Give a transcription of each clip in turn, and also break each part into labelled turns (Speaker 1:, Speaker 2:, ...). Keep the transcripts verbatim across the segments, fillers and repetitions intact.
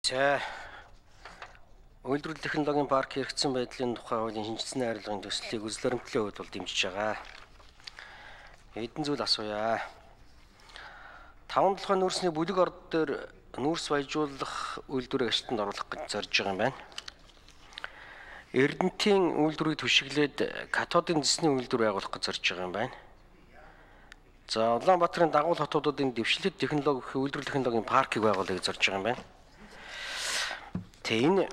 Speaker 1: За үйлдвэрлэл технологийн парк хэрэгцсэн байдлын тухай хуулийн шинжилсэн хайрлагын төслийг үзлэремтлийн хувьд бол дэмжиж байгаа. Эдэн зүйл асууя. таван толгой нүүрсний бүлэг орд дээр нүүрс баяжуулах үйлдвэрийг ажилтанд оруулах гэж зорж байгаа юм байна. Эрдэнэтийн үйлдвэрийг түшиглээд катодын зэсний үйлдвэр байгуулах гэж зорж байгаа юм байна. За Улаанбаатарын дагуул хотуудын дэвшлэлт технологи үйлдвэрлэл технологийн паркийг байгуулахыг зорж байгаа юм байна. Тэгээ энэ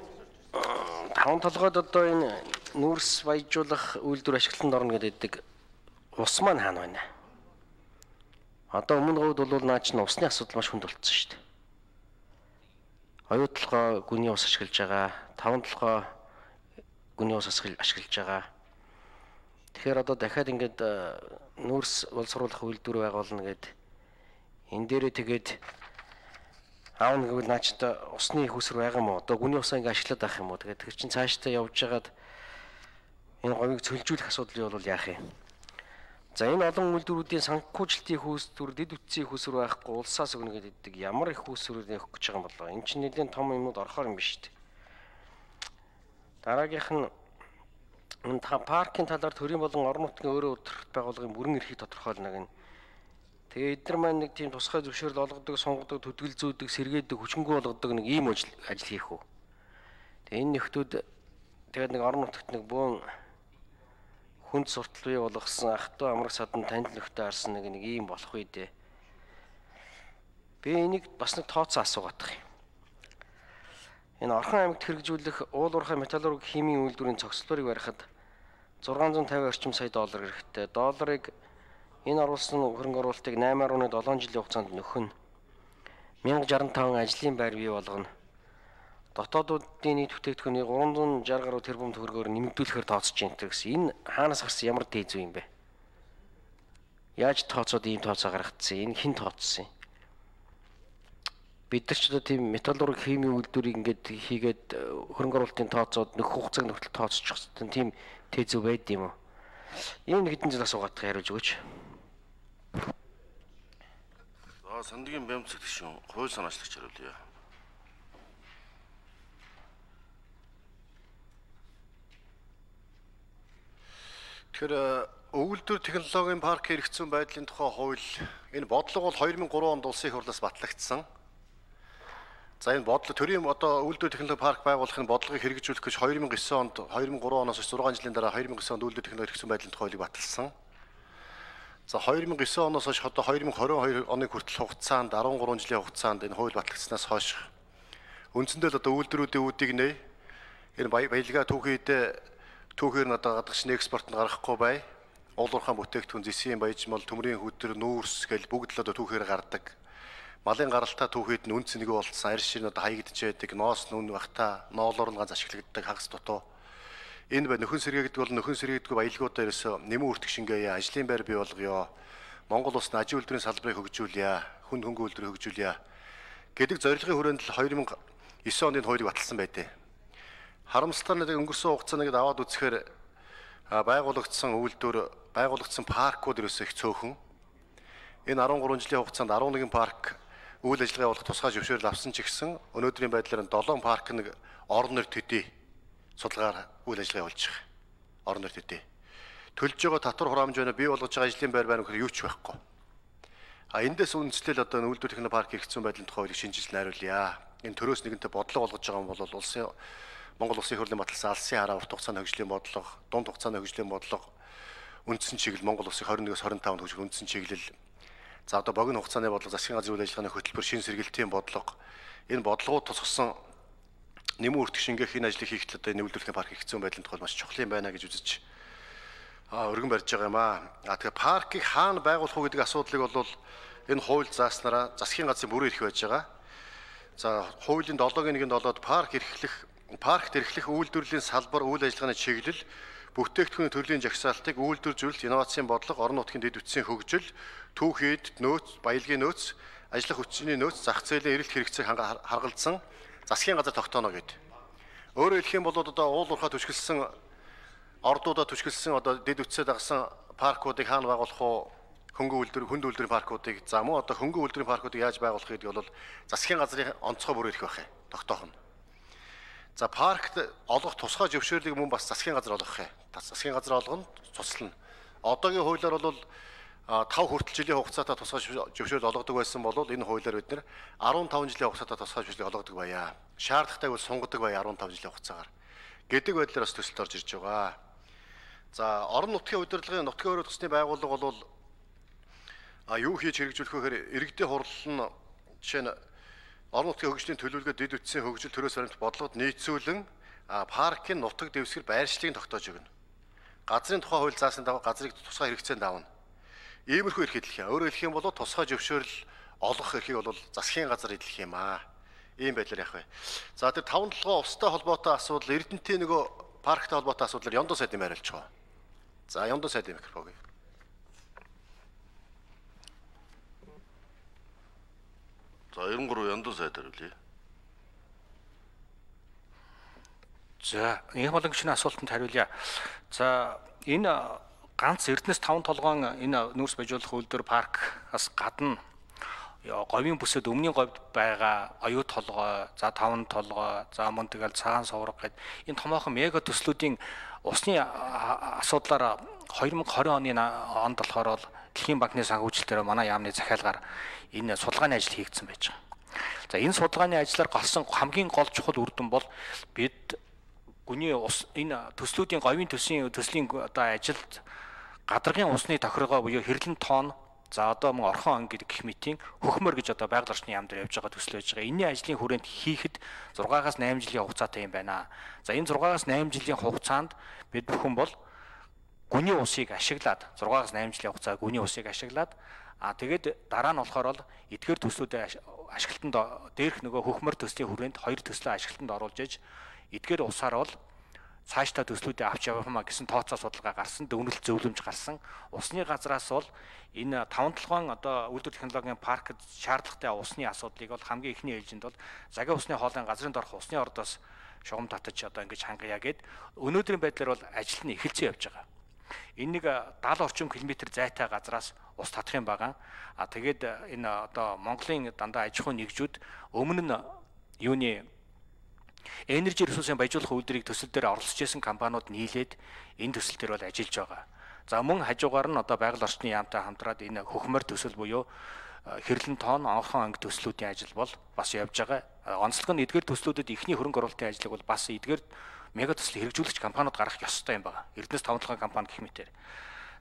Speaker 1: таван толгойд одоо энэ нүүрс баяжуулах үйлдвэр ашиглалтанд орно гэдэг ус маань хаана байна? Одоо өмнө говьд бол наа чинь усны асуудал маш хүнд болцсон шүү дээ. Оюу толгой гүний ус ашиглаж байгаа, таван толгой гүний ус ашиглаж байгаа. Тэгэхээр одоо дахиад ингээд нүүрс боловсруулах үйлдвэр байгуулна гэд энэ дээрээ тэгээд аавна гэвэл наачта усны их усэр байгаа юм уу? Одоо гүний усаа ингээд ашиглаад авах юм уу? Тэгээд тэр чинь цаашдаа явж хагаад энэ говийг цөлжүүлэх асуудал бол яах юм? За энэ олон үйлдвэрүүдийн санхүүжилтийн их усүр, дэд үтсийн их усүр байхгүй улсаас өгнө гэдэг ямар их усүрийг өгөх гэж байгаа юм болоо? Энэ чинь нэлээд том юмнууд орохоор юм биш үү? Дараагийнх нь энэ паркийн талаар төрийн болон орон нутгийн өөрөө удирдах байгууллагын бүрэн эрхийг тодорхойлно гэнэ. Тэгээ эдгээр маань нэг тийм тусгай зөвшөөрөл олгодог, сонгодог, төдөлзөөдөг, сэргээдэг, хүчингү болгодог нэг ийм ажил ажил хийх үү. Тэгээ энэ нөхдүүд тэгээд нэг орон нутагт нэг бөөн хүнд суртал бий болгосон ах トゥ амраг садан танд нөхдөд харсан нэг нэг ийм болох үү дээ. Би энийг бас нэг тооцоо асуугаад байгаа юм. Энэ Орхон аймагт хэрэгжүүлэх уул уурхай металлурги химийн үйлдвэрийн цогцлоорыг барихад зургаан зуун тавин орчим сая доллар хэрэгтэй. Долларыг энэ оруулсан хөрөнгө оруулалтыг найман гаруй долоон жилийн хугацаанд нөхөн мянга жаран таван ажлын байр бий болгоно. Дотоодуудын нийт бүтээгдэхүүнийг гурван зуун шарх гаруй тэрбум төгрөгөөр нэмэгдүүлэхээр тооцож байна гэсэн. Энэ хаанаас гарсан ямар дээд зүй юм бэ? Яаж тооцоод ийм тооцоо гаргацсан? Энэ хэн тооцсон юм? Бид нар ч одоо тийм металлурги химийн үйлдвэрийг ингээд хийгээд хөрөнгө оруулалтын тооцоод нөхөх хугацааг нөхөлт тооцчих хэвээр тийм дээд зүй байд юм уу? Ийм хэдэн жил асуугаад хариулж өгөөч.
Speaker 2: За Сандгийн бямцэг гишүүн хууль санаачлагч хариулъя. Тэгэхээр өгүүлбэр технологийн парк хэрэгцсэн байдлын тухай хууль энэ бодлого бол хоёр мянга гурван онд улсын их хурлаас батлагдсан. За энэ бодлого төрийн одоо үйлдвэр технологи парк байгуулахын бодлогыг хэрэгжүүлэх гэж хоёр мянга девять онд хоёр мянга гурван оноос зургаан жилийн дараа хоёр мянга девять онд үйлдвэр технологи хэрэгцсэн байдлын тухай хуулийг баталсан. За хоёр мянга девять оноос хойш одоо хоёр мянга двадцать хоёр оны хүртэл хугацаанд дөрвөн гурван жилийн хугацаанд энэ хууль батлагдсанаас хойш үндсэндээ л одоо үйлдвэрүүдийн үүдийг нэ энэ баялгаа түүхийд түүхээр нь одоо гадагш экспортод гаргахгүй бай. Уул уурхай бүтээгдэхүүн зэсийн баяжмал, төмрийн хөдөр, нүүрс гэл бүгд л одоо түүхээр гардаг. Малын гаралтаа түүхэд нь үн цэнэгүй болцсон, арьс ширн одоо хаягдж байдаг, ноос нүн багтаа, ноолоор нь ганц ашигладаг хагас дутуу. Энэ бай нөхөн сэргээгдэг бол нөхөн сэргээгдгүй баялгуудаа ерөөсөө нэмэн үртэг шингээе, ажлын байр бий болгоё. Монгол улсад ажил үйлдвэрийн салбарыг хөгжүүлье, хүн хөнгө үйлдвэрийг хөгжүүлье гэдэг зорилгын хүрээнд л хоёр мянга девять оны хуулийг баталсан байдэ. Харамсалтай нь өнгөрсөн хугацаанд аваад үзэхээр байгуулагдсан үйлдвэр, байгуулагдсан паркууд ерөөсөө их цөөхөн. Энэ дөрвөн гурван жилийн хугацаанд дөрвөн нэг парк үйл ажиллагаа явуулах тусгай зөвшөөрөл авсан ч гэсэн өнөөдрийн байдлаар долоон парк нэг орон нэр төдий судалгаар үйл ажиллагаа явуулж байгаа. Орон нэр төдий. Төлж байгаа татвар хураамж байна, бий болгож байгаа ажлын байр байна гэхээр юу ч байхгүй. А эндээс үндэслэл одоо үйлдвэр технологи парк хэрэгцсэн байдлын тухай хуулийг шинжилж найруулъя. Энэ төрөөс нэгэнтээ бодлого болгож байгаа юм бол улсын Монгол Улсын их хурлын баталсан алсын хараа урт хугацааны хөгжлийн бодлого, дунд хугацааны хөгжлийн бодлого, үндсэн чиглэл Монгол Улсын двадцать нэгээс двадцать таванд хөгжих үндсэн чиглэл. За одоо богино хугацааны бодлого, засгийн газрын үйл ажиллагааны хөтөлбөр, шин сэргэлтийн бодлого, энэ бодлогууд тусгасан нэмэн үртэг шингээх энэ ажлыг хийхдээ одоо энэ үйлдвэрлэлийн парк хэрэгцсэн байдлын тухай маш чухал юм байна гэж үзэж а өргөн барьж байгаа юм аа. А тэгэхээр паркийг хаана байгуулах уу гэдэг асуудлыг бол энэ хууль зааснараа засгийн газрын бүрэн эрх байж байгаа. За хуулийн долоогийн нэгэнд болоод парк эрхлэх паркт эрхлэх үйлдвэрлэлийн салбар, үйл ажиллагааны чиглэл, бүтээгдэхүүний төрлийн жагсаалтыг үйлдвэржүүлэлт, инновацийн бодлого, орон нутгийн дэд үтсийн хөгжил, түүхийд нөөц, баялагын нөөц, ажиллах хүчний нөөц, зах зээлийн эрэлт хэрэгцээг харгалзсан засгийн газар тогтооно гэдэг. Өөрөөр хэлэх юм бол одоо уул уурхай түшгэлсэн ордуудаа түшгэлсэн одоо дэд үтсээ дагсан паркуудыг хаана байгуулах уу? Хөнгө үйлдвэр, хүнд үйлдвэрийн паркуудыг за мөн одоо хөнгө үйлдвэрийн паркуудыг яаж байгуулах гэдэг бол засгийн газрын онцгой бүр эрх байх юм. тогтоох нь. За паркт олгох тусгай зөвшөөрлийг мөн бас засгийн газар олгох юм. Засгийн газар олгоно, цуцлана. Одоогийн хуулиар бол тав хүртэл жилийн хугацаатай тусгай зөвшөөрөл олгодог байсан бол энэ хуулиар бид нэр арван таван жилийн хугацаатай тусгай зөвшөөрлийг олгодог байя. Шаардлагатай бол сунгадаг байя арван таван жилийн хугацаагаар. Гэдэг байдлаар бас төсөлд орж ирж байгаа. За орон нутгийн удирдлагын нутгийн өрөө төсний байгууллага бол а юу хийж хэрэгжүүлэх вэ гэхээр иргэдийн хурал нь жишээ нь орон нутгийн хөгжлийн төлөвлөгөө дэд үтсийн хөгжил төрөөс баримт бодлогод нийцүүлэн паркын нутаг дэвсгэр байршлыг тогтоож өгнө. Газрын тухай хууль заасан дагуу газрыг тусгай хэрэгцээнд давна. Иймэрхүү эрх эдлэх юм. Өөрөөр хэлэх юм бол тусгай зөвшөөрөл олгох эрхийг бол засгийн газар эдлэх юм аа. Ийм байдлаар явах вэ. За тэр таван толгой устай холбоотой асуудал Эрдэнэтийн нөгөө парктай холбоотой асуудлаар Ёндоо сайдын байрлаж байгаа. За Ёндоо сайдын микрофон.
Speaker 3: За ерөн гурав Ёндоо сайд хариулъя.
Speaker 4: За энэ боломжны асуултанд хариулъя. За энэ ганц Эрдэнэс таван толгойн энэ нүүрс баяжуулах үйлдвэр паркаас гадна говийн бүсэд өмнгийн говьд байгаа оюу толгой, за таван толгой, за мөн тэгэл цагаан соврог гэд энэ томоохон мега төслүүдийн усны асуудлаар две тысячи двадцать оны онд болохоор Дэлхийн банкны санхүүжилтээр манай яамны захиалгаар энэ судалгааны ажил хийгдсэн байж байгаа. За энэ судалгааны ажлаар гарсан хамгийн гол чухал үр дүн бол бид гүний ус энэ төслүүдийн говийн төслийн төслийн одоо ажилд гадаргын усны тохиргоо буюу хэрлэн тонн за одоо мөн орхон ан гэдэг гэх мэтийн хөхмөр гэж одоо байгаль орчны яам дээр явж байгаа төсөл байж байгаа. Энийн ажлын хүрээнд хийхэд зургаагаас найман жилийн хугацаатай юм байна. За энэ зургаагаас найман жилийн хугацаанд бид бүхэн бол гүний усыг ашиглаад зургаагаас найман жилийн хугацаа гүний усыг ашиглаад а тэгээд дараа нь болохоор л эдгээр төслүүдэд ашиглалтанд дээрх нөгөө хөхмөр төслийн хүрээнд хоёр төслөө ашиглалтанд оруулж иж эдгээр усаар бол цаашдаа төслүүдээ авч явахмаа гэсэн тооцоо судалгаа гарсан, дүгнэлт зөвлөмж гарсан. Усны газраас бол энэ таван толгойн одоо үйлдвэр технологийн паркд шаардлагатай усны асуудлыг бол хамгийн ихний ээлжинд бол загин усны хоолойн газрын дорх усны ордоос шугам татаж одоо ингэж хангая гэд өнөөдрийн байдлаар бол ажил нь эхэлсэн явж байгаа. Энэ нэг дагалан орчим километр зайтай газраас ус татах юм байгаа. А тэгээд энэ одоо Монголын дандаа аж ахуйн нэгжүүд өмнө нь юуны энержи ресурсын баяжуулах үйлдвэрийг төсөл дээр оролцож байсан компаниуд нийлээд энэ төсөл дээр бол ажиллаж байгаа. За мөн хажуугаар нь одоо байгаль орчны яамтай хамтраад энэ хөхмөр төсөл буюу хэрлэн тоон онхон анги төслүүдийн ажил бол бас явж байгаа. Онцлог нь эдгээр төслүүдэд ихний хөрөнгө оруулалтын ажлыг бол бас эдгээр мега төслийн хэрэгжүүлэгч компаниуд гаргах ёстой юм байна. Эрдэнэс таван толгойн компани гэх мэтээр.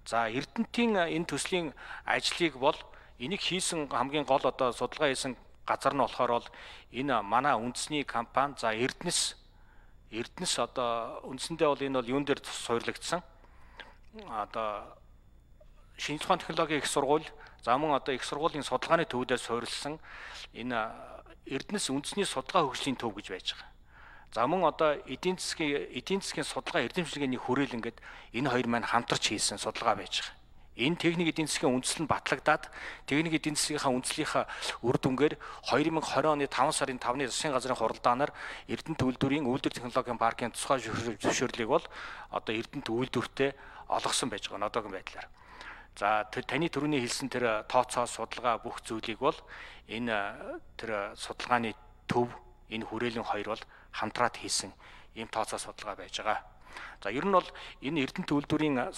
Speaker 4: За Эрдэнэтийн энэ төслийн ажлыг бол энийг хийсэн хамгийн гол одоо судалгаа хийсэн газар нь болохоор бол энэ манай үндэсний компани за Эрдэнэс Эрдэнэс одоо үндсэндээ бол энэ бол юун дээр суйрлагдсан одоо шинэ ухааны технологийн их сургууль за мөн одоо их сургуулийн судалгааны төвөдөө суурилсан энэ Эрдэнэс үндэсний судалгаа хөгжлийн төв гэж байж байгаа. За мөн одоо эдийн засгийн эдийн засгийн судалгаа эрдэмтдийн хүрээлэнгээд энэ хоёр маань хамтарч хийсэн судалгаа байж байгаа. Энэ техник эдийн засгийн үндэслэл нь батлагдаад техник эдийн засгийнхаа үндслийнхаа үр дүнгээр две тысячи двадцать оны таван сарын тавны засгийн газрын хуралдаанаар Эрдэнэт үйлдвэрийн үйлдвэр технологийн паркын тусгай зөвшөөрлийг бол одоо Эрдэнэт үйлдвэртээ олгосон байж байгаа одоогийн байдлаар. За таны түрүүний хэлсэн тэр тооцоо судалгаа бүх зүйлийг бол энэ тэр судалгааны төв энэ хүрээлэн хоёр бол хамтраад хийсэн ийм тооцоо судалгаа байж байгаа. За ер нь бол энэ Эрдэнэт үйлдвэрийн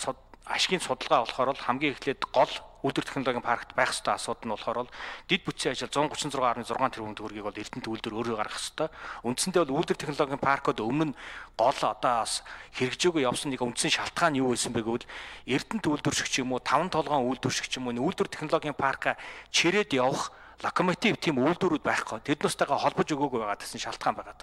Speaker 4: ашигын судалгаа болохоор хамгийн эхлээд гол үйлдвэр технологийн паркт байх ёстой асуудал нь болохоор дид бүтцийн ажил one thirty-six point six тэрбум төгрөгийг бол Эрдэнэт үйлдвэр өөрөө гаргах ёстой. Үндсэндээ бол үйлдвэр технологийн паркууд өмнө нь гол одоо бас хэрэгжээгүй явсан нэг үндсэн шалтгаан юу байсан бэ гэвэл Эрдэнэт үйлдвэршигч юм уу, таван толгойн үйлдвэршигч юм уу, үйлдвэр технологийн парка чирээд явах локомотив тийм үйлдвэрүүд байхгүй. Тэднээстэйгээ холбож өгөөгүй байгаа гэсэн шалтгаан байгаа.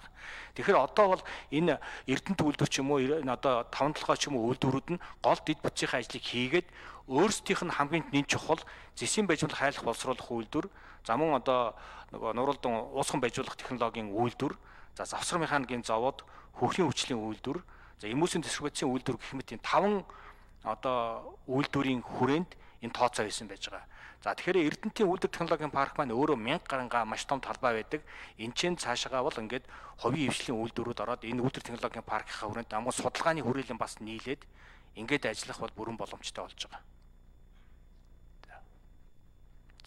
Speaker 4: Тэгэхээр одоо бол энэ Эрдэнэт үйлдвэр ч юм уу энэ одоо таван толгой ч юм уу үйлдвэрүүд нь гол дид бүтцийн ажлыг хийгээд өөрсдийнх нь хамгийн нэн чухал зэсийн баяжуулах хайлах боловсруулах үйлдвэр, за мөн одоо нөгөө нуралдан уусхан баяжуулах технологийн үйлдвэр, за завсар механикийн завод, хөрхийн хүчлийн үйлдвэр, за эмүүлсийн дистрибуцийн үйлдвэр гэх мэт энэ таван одоо үйлдвэрийн хүрээнд энэ тооцоо хийсэн байж байгаа. За тэгэхээр Эрдэнэтийн үйлдвэр технологийн парк маань өөрөө мянга гарангаа маш том талбай байдаг. Энд чинь цаашаагаа бол ингээд хувийн хвшлийн үйлдвэрүүд ороод энэ үйлдвэр технологийн паркийнхаа хүрээнд амган судалгааны хүрээлэн бас нийлээд ингээд ажиллах бол бүрэн боломжтой болж байгаа.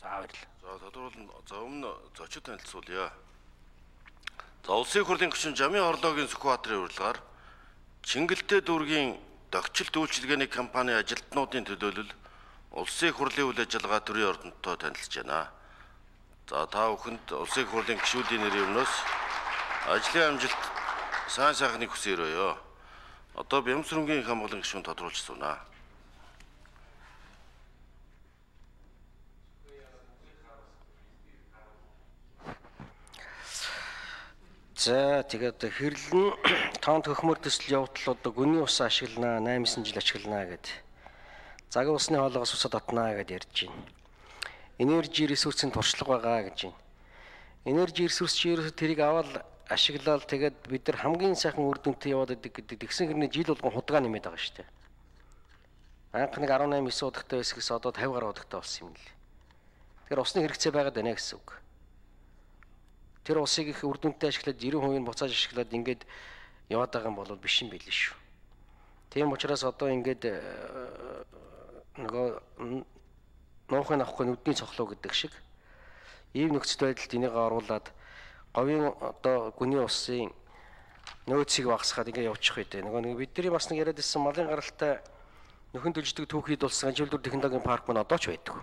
Speaker 4: За баярлалаа.
Speaker 3: За тодорхойлол за өмнө зочид танилцуулъя. За улсын их хурлын гишүүн Жамын Орлоогийн Сүхбаатарын урилгаар Чингэлтэй дүүргийн дохичилт үйлчилгээний компани ажилтнуудын төлөөлөл улсын их хурлын үйл ажиллагаа төрийн ордонтой танилцж байна. За та бүхэнд улсын их хурлын гишүүдийн нэрийн өмнөөс ажлын амжилт сайн сайхныг хүсээрөөё. Одоо Бямсрынгийн их хамгааллын гишүүн тодруулж сууна.
Speaker 1: За тэгээд хэрлэн тоонт хөхмөр төсөл явуултал одоо гүний ус ашиглана, наймсан жил ашиглана гэд. Загын усны хоолоогоос усад татнаа гэд ярьж байна. Энержи ресурсын туршлага байгаа гэж байна. Энержи ресурс чи ерөөсө тэрийг аваад ашиглаад тэгээд бид нар хамгийн сайхан үр дүнтэй яваад идэг гэдэг тэгсэн хэрнээ жил болгон худгаа нэмээд байгаа шүү дээ. Анх нэг арван найман девять удагтай байсгээс одоо пятьдесят гаруй удагтай болсон юм л. Тэгэхээр усны хэрэгцээ байгаад байна гэсэн үг. Тэр усыг их үр дүнтэй ашиглаад девяносто хувийг буцааж ашиглаад ингээд яваад байгаа юм бол биш юм билээ шүү. Тийм учраас одоо ингээд нөгөө нуухын авахгүй нүдний цохлоо гэдэг шиг ийм нөхцөл байдалд энийг оруулаад говийн одоо гүний усын нөөцийг багасгаад ингээд явуучих үү. Нөгөө нэг бидний бас нэг яриад ирсэн малын гаралтай нөхөн төлждөг түүхийд болсон ажилтнууд технологийн парк маань одоо ч байдаг.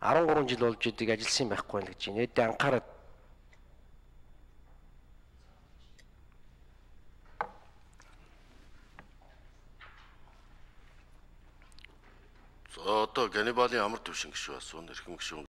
Speaker 1: арван гурван жил болж идэг ажилласан байхгүй л гэж байна. Эд анхаарал
Speaker 3: За одоо Ганнибалын амар төвшин гишүү асуун эрхэм гишүүн